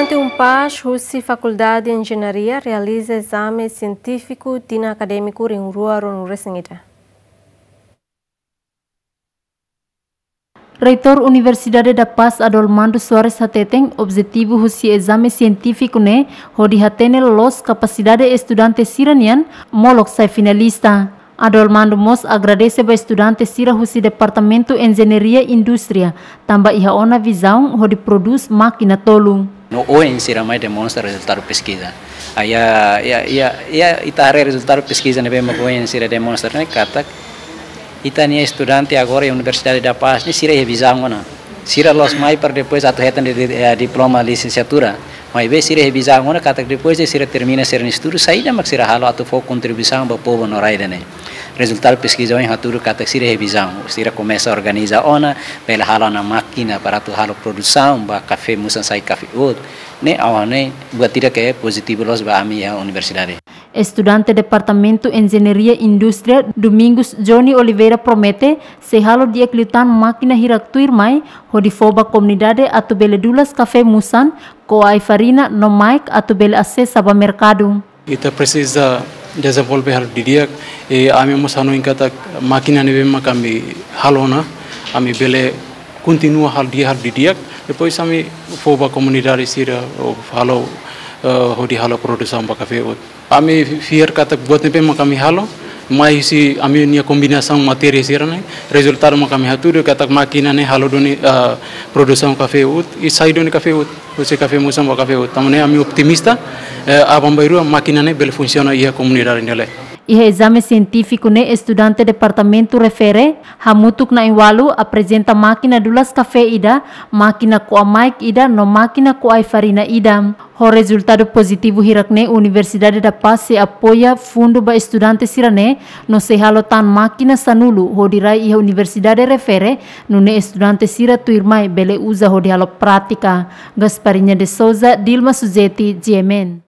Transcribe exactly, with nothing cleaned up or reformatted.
Estudante UNPAZ husi Fakuldade Enjeñaria realiza ezame sientífiku tinan akadémiku rihun rua ruanulu-resin-ida. Reitór Universidade da Paz Adolmando Soares hateten objetivu husi ezame sientífiku ne'e hodi hatene loloos kapasidade estudante sira-nian molok sai finalista. Adolmando mós agradese ba estudante sira husi Departamentu Enjeñaria Indústria, tanba iha ona vizaun hodi prodús mákina tolu. No oin sira mai demonstra rezultadu peskiza. Aya, ya, ya, ya, ita haree rezultadu peskiza ne'ebé mak oin sira demonstra ne'e katak ita-nia estudante agora iha Universidade da Paz ne'e sira iha vizaun ona. Sira la'ós mai para depois atu hetan di, di, eh, diploma lisensiatura. Maibé sira iha vizaun ona katak depois de sira termina sira-nia estudu, saida mak sira halo atu fó kontribuisaun ba povu no rai ida-ne'e. Rezultadu peskiza ohin hatudu katak sira iha vizaun, sira komesa organiza ona, bele halo ona mákina para atu halo produsaun ba kafé Musan sai kafé uut. Ne'e ha'u hanoin buat ida ke pozitivu loos ba ami iha universidade. Estudante Departamentu Enjeñaria Indústria, Domingos Johnny Oliveira promete sei halo di'ak liután mákina hirak tuirmai hodi fó ba komunidade atu bele dulas kafé Musan, ko'a ai-farina no maik atu bele asesa ba merkadu. Ita presiza dezenvolve halo didi'ak, i ami mós hanoin katak mákina ne'ebé mak ami halo ona, ami bele kontinua halo di'ak, halo didi'ak, depois ami fó ba komunidade sira, ou halo, eh, hodi halo produsaun ba kafé uut. Ami fiar katak buat ne'ebé mak ami halo, mai husi ami-nia kombinasaun matéria sira-ne'e, rezultadu mak ami hatudu katak mákina ne'e halo duni, eh, produsaun kafé uut, i sai duni kafé uut. Husi kafé Musan ba kafé uut. Tanba ne'e ami optimista, eh, aban-bainrua mákina ne'e bele funsiona iha komunidade nia leet. Iha ezame sientífiku ne'e estudante departamentu refere, hamutuk na'in-ualu aprezenta mákina dulas kafé ida, mákina ko'a maik ida no mákina ko'a ai-farina ida. Ho rezultadu pozitivu hirak ne'e Universidade da Paz sei apoia fundu ba estudante sira-ne'e no sei halo tan mákina sanulu hodi rai iha universidade refere, nune'e estudante sira tuirmai bele uza hodi halo prátika. Gasparinha de Souza, Dilma Suzeti, G M N.